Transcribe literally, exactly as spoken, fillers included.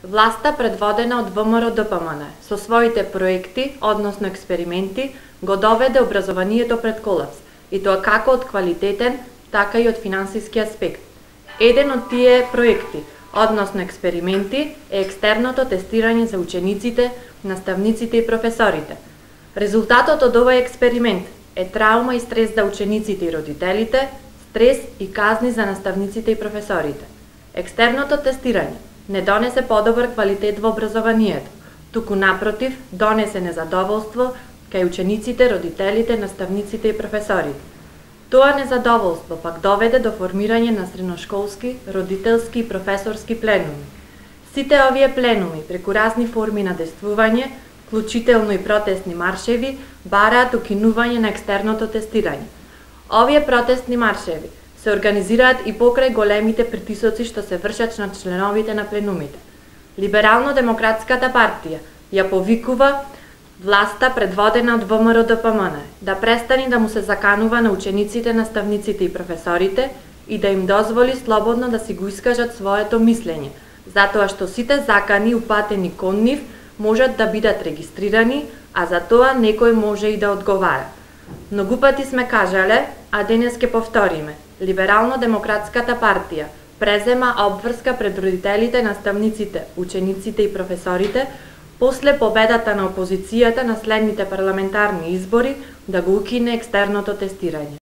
Власта предводена од ВМРО-ДПМН со своите проекти, односно експерименти, го доведе образованието пред колапс, и тоа како од квалитетен, така и од финансиски аспект. Еден од тие проекти, односно експерименти, е екстерното тестирање за учениците, наставниците и професорите. Резултатот од овој експеримент е траума и стрес за учениците и родителите, стрес и казни за наставниците и професорите. Екстерното тестирање не донесе подобар квалитет во образованието, туку напротив, донесе незадоволство кај учениците, родителите, наставниците и професорите. Тоа незадоволство пак доведе до формирање на средношколски, родителски и професорски пленуми. Сите овие пленуми, преку разни форми на действување, вклучително и протестни маршеви, бараат укинување на екстерното тестирање. Овие протестни маршеви се организираат и покрај големите притисоци што се вршат на членовите на пленумите. Либерално-демократската партија ја повикува власта предводена од ВМРО-ДПМН да престани да му се заканува на учениците, наставниците и професорите и да им дозволи слободно да си го искажат своето мислење, затоа што сите закани упатени кон нив можат да бидат регистрирани, а за тоа некој може и да одговара. Многу пати сме кажале, а денес ќе повториме. Либерално-демократската партија презема обврска пред родителите, наставниците, учениците и професорите после победата на опозицијата на следните парламентарни избори да го укине екстерното тестирање.